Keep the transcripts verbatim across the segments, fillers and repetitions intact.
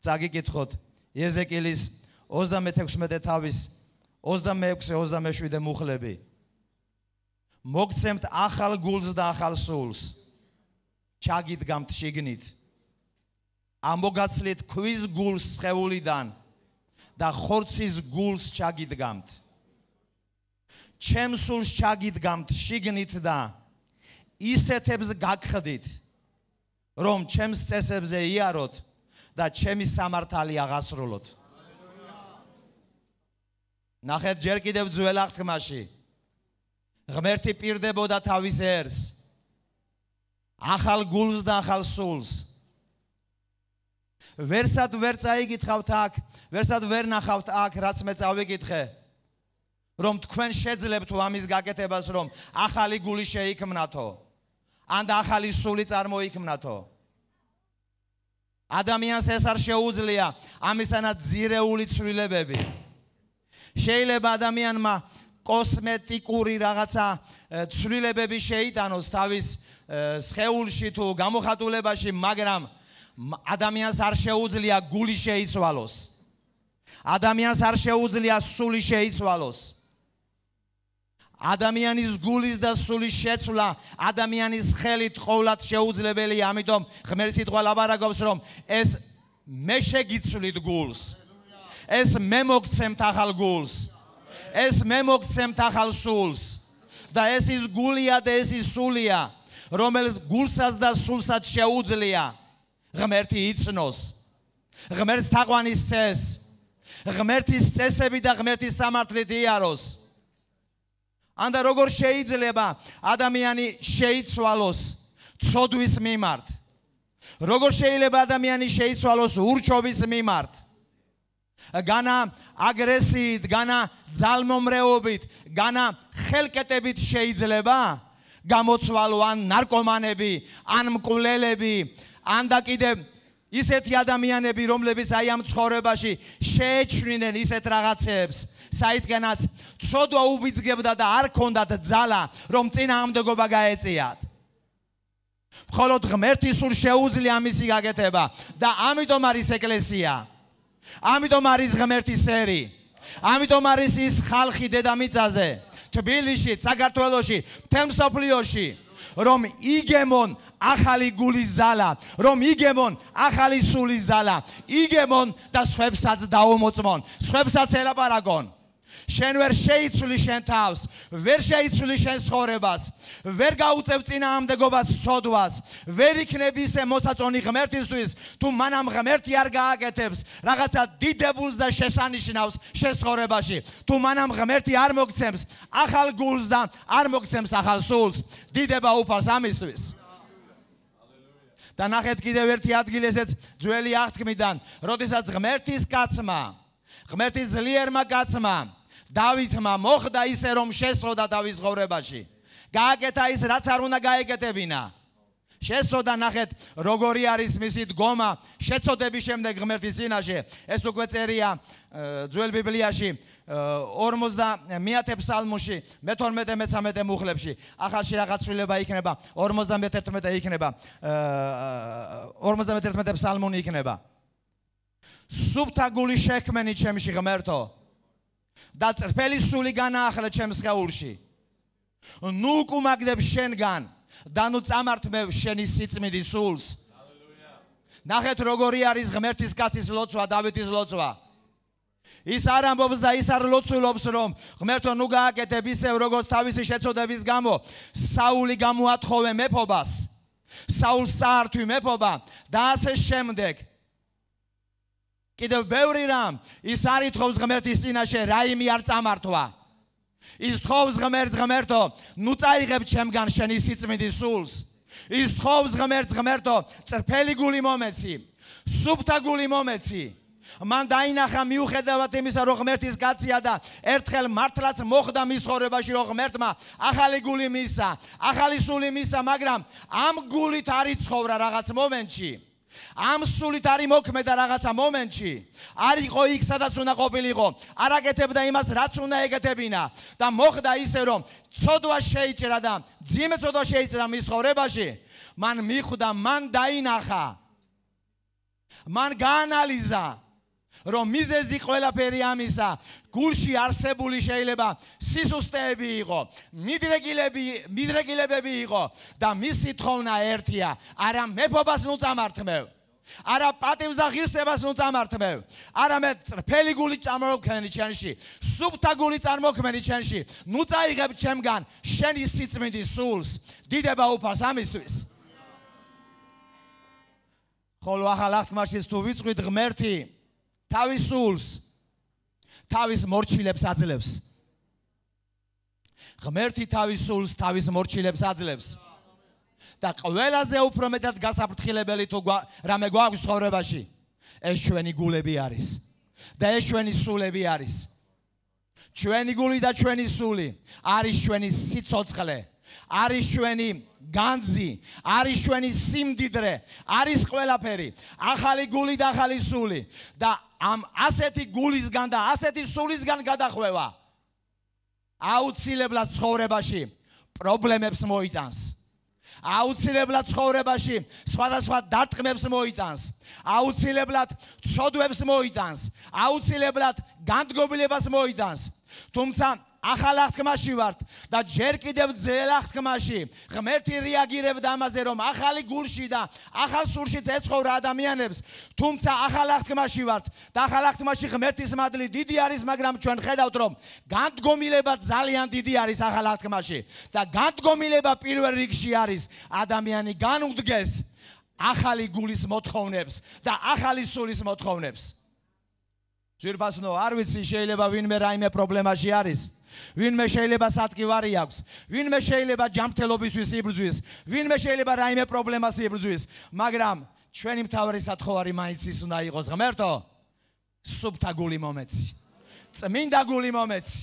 წაგიკითხოთ ეზეკილის ოცდამეექვსმეტე თავის ოცდამეექვსე ოცდამეშვიდე მუხლები. მოგცემთ ახალ გულს და ახალ სულს. ჩაგიდგამთ შიგნით. ამოგაცლით ქვის გულს სხეულიდან და ხორცის გულს ჩაგიდგამთ. ჩემს სულს ჩაგიდგამთ შიგნით და ისეთებს გაგხდით, რომ ჩემს წესებზე იაროთ და ჩემი სამართალი აღასრულოთ. ნახეთ ჯერ კიდევ ძველ აღთქმაში ღმერთი პირდებოდა თავის ერს, ახალ გულს და ახალ სულს. ვერსად ვერ წაიგითხავთ აქ, ვერსად ვერ ნახავთ აქ, რაც მე წავიკითხე, რომ თქვენ შეძლებთ ამის გაკეთებას, რომ ახალი გული შეიქმნათო, ან და ახალი სული წარმოიქმნათო. ადამიანს ეს არ შეუძლია ამისთანაც ძირეული ცვლილებები. შეიძლება ადამიანმა კოსმეტიკური რაღაცა ცვლილებები შეიტანოს თავის სხეულში თუ გამოხატულებაში, მაგრამ ადამიანს არ შეუძლია გული შეიცვალოს. ადამიანს არ შეუძლია სული შეიცვალოს. ადამიანის გულის და სულის შეცვლა ადამიანის ხელით ყოვლად შეუძლებელია, ამიტომ ღმერთი სიტყვა ლაბარაკობს, რომ ეს მე შეგიცვლით გულს. ეს მე მოგცემთ ახალ გულს. ეს მე მოგცემთ ახალ სულს. და ეს ის გულია და ეს ის სულია, რომელიც გულსაც და სულსაც შეუძლია ღმერთი იცნოს. ღმერთს თაყვანის წეს, ღმერთის წესები და ღმერთის სამართლით იაროს. ანდა როგორ შეიძლება ადამიანი შეიცვალოს ცოდვის მიმართ? როგორ შეიძლება ადამიანი შეიცვალოს ურჩობის მიმართ? განა აგრესიით, განა ძალმომრეობით, განა ხელკეტებით შეიძლება გამოცვალო ან ნარკომანები, ან მკვლელები, ან და კიდევ ისეთი ადამიანები, რომლებიც აი ამ ცხოვრებაში შეეჩვნენ ისეთ რაღაცებს, საიდანაც ცოდვა უბიძგებდა და არ ქონდათ ძალა, რომ წინააღმდეგობა გაეწიათ. მხოლოდ ღმერთის სულ შეუძლია ამისი გაკეთება და ამიტომ არის ეკლესია. ამიტომ არის ღმერთის ერი. ამიტომ არის ის ხალხი დედამიწაზე, თბილისში, საქართველოში, მთელ მსოფლიოში, რომ იგემონ ახალი გულის ზალა, რომ იგემონ ახალი სულის ზალა, იგემონ და სხვებსაც დაუმოწმონ, სხვებსაც ელაპარაკონ. შენ ვერ შეიცვლი შენ თავს, ვერ შეიცვლი შენ ცხოვრებას, ვერ გაუწევ წინააღმდეგობას ცოდვას, ვერ იქნები ისე მოსაწონი ღმერთისთვის, თუ მანამ ღმერთი არ გააკეთებს რაღაცა დიდებულს და შესანიშნავს შენ ცხოვრებაში, თუ მანამ ღმერთი არ მოგცემს ახალ გულს და არ მოგცემს ახალ სულს, დიდება უფალს ამისთვის. და ნახეთ კიდევ ერთი ადგილი, ესეც ძველი აღთქმიდან, როდესაც ღმერთის კაცმა, ღმერთის ძლიერმა კაცმა დავითმა მოხდა ისე, რომ შესწოდა თავის ცხოვრებაში. გააკეთა ის, რაც არ უნდა გაეკეთებინა. შესწოდა, ნახეთ, როგორი არის მისი დგომა შეწოდების შემდეგ ღმერთის წინაშე. ეს უკვე წერია ძველ ბიბლიაში ორმოცდამეათე ფსალმუში, მეთორმეტე მეთერთმეტე მუხლებში. ახალში რაღაც ცვლილება იქნება, ორმოცდამეთერთმეტე იქნება, ორმოცდამეთერთმეტე ფსალმუნი იქნება. სუფთა გული შექმენი ჩემში ღმერთო და წრფელი სული განაახლე ჩემს სხეულში. ნუ უკუმაგდებ შენგან და ნუ წამართმევ შენი სიწმინდის სულს. ნახეთ როგორი არის ღმერთის კაცის ლოცვა, დავითის ლოცვა. ის არ ამბობს და ის არ ლოცულობს, რომ ღმერთო ნუ გააკეთებ ისევ, როგორც თავისი შეწოდების გამო საული გამოათხოვე მეფობას, საულს წაართვი მეფობა და ასე შემდეგ. კიდევ ბევრი რამ ის არ ითხოვს ღმერთის წინაშე, რაიმე არ წამართვა. ის თხოვს ღმერთს, ღმერთო, ნუ წაიღებ ჩემგან შენი სიწმინდის სულს. ის თხოვს ღმერთს, ღმერთო, წრფელი გული მომეცი, სუფთა გული მომეცი. მან დაინახა მიუხედავად იმისა, რომ ღმერთის კაცია და ერთხელ მართლაც მოხდა მის ცხოვრებაში, რომ ღმერთმა ახალი გული მისცა, ახალი სული მისცა, მაგრამ ამ გულით არ იცხოვრა რაღაც მომენტში. ამ სულით არ იმოქმედა რაღაცა მომენტში, არ იყო იქ, სადაც უნდა ყოფილიყო, არ აკეთებდა იმას, რაც უნდა ეკეთებინა და მოხდა ისე, რომ ცოდვა შეიჭრა და ძიმე ცოდვა შეიჭრა მის ცხოვრებაში, მან მიხვდა, მან დაინახა, მან გაანალიზა რომ მიზეზი ყველაფერი ამისა გულში არსებული შეიძლება სისუსტეები იყო, მიდრეკილები, მიდრეკილებები იყო და მისი თხოვნა ერთია, არა მეფობას ნუ წამართმევ, არა პატივს და ღირსებას ნუ წამართმევ, არამედ წრფელი გული წამოქმენი ჩემში, სუფთა გული წარმოქმენი ჩემში, ნუ წაიღებ ჩემგან შენი სიწმინდის სულს, დიდება უფალს ამისთვის. ხოლო ახალ აღთქმაში თუ ვიწყვით ღმერთი თავის სულს, თავის მორჩილებს აძლევს. ღმერთი თავის სულს, თავის მორჩილებს აძლევს. და ყველაზე უფრო მეტად გასაფრთხილებელი თუ რამე გვაქვს ცხოვრებაში, ეს ჩვენი გულები არის. და ეს ჩვენი სულები არის. ჩვენი გული და ჩვენი სული არის ჩვენი სიცოცხლე, არის ჩვენი განძი, არის ჩვენი სიმდიდრე, არის ყველაფერი. ახალი გული და ახალი სული და ამ ასეთი გულისგან და ასეთი სულისგან გადახვევა აუცილებლად ცხოვრებაში პრობლემებს მოიტანს. აუცილებლად ცხოვრებაში სხვადასხვა დარტყმებს მოიტანს. აუცილებლად ცოდვებს მოიტანს. აუცილებლად განდგომილებას მოიტანს. თუმცა ახალ აღთქმაში ვართ და ჯერ კიდევ ძველ აღთქმაში ღმერთი რეაგირებდა ამაზე, რომ ახალი გულში და ახალ სულში ეცხოვრა ადამიანებს. თუმცა ახალ აღთქმაში ვართ და ახალ აღთქმაში ღმერთის მადლი დიდი არის, მაგრამ ჩვენ ხედავთ, რომ განდგომილება ძალიან დიდი არის ახალ აღთქმაში და განდგომილება პირველ რიგში არის ადამიანი განუდგეს ახალი გულის მოთხოვნებს და ახალი სულის მოთხოვნებს. ძვირფასნო, არ ვიცი, შეიძლება ვინმე რაიმე პრობლემაში არის, ვინმე შეიძლება სათქივარი აქვს, ვინმე შეიძლება ჯანმრთელობისთვის იბრძვის, ვინმე შეიძლება რაიმე პრობლემას იბრძვის, მაგრამ ჩვენი მთავარი სათხოვარი მაინც ის უნდა იყოს, ღმერთო, სუფთა გული მომეცი, წმინდა გული მომეცი,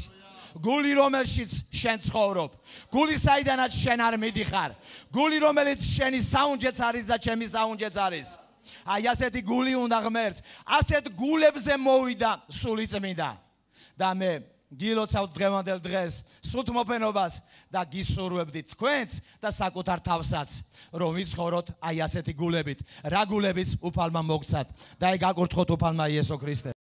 გული რომელშიც შენ ცხოვრობ, გული საიდანაც შენ არ მიდიხარ, გული რომელიც შენი საუნჯეც არის და ჩემი საუნჯეც არის. აი ასეთი გული უნდა ღმერთს, ასეთ გულებზე მოვიდა სული წმინდა და მე გილოცავთ დღევანდელ დღეს სულთ მოფენობას და გისურვებდი თქვენც და საკუთარ თავსაც, რომ ვიცხოვროთ აი ასეთი გულებით, რა გულებიც უფალმა მოგცათ და აი გაკურთხოთ უფალმა იესო ქრისტე.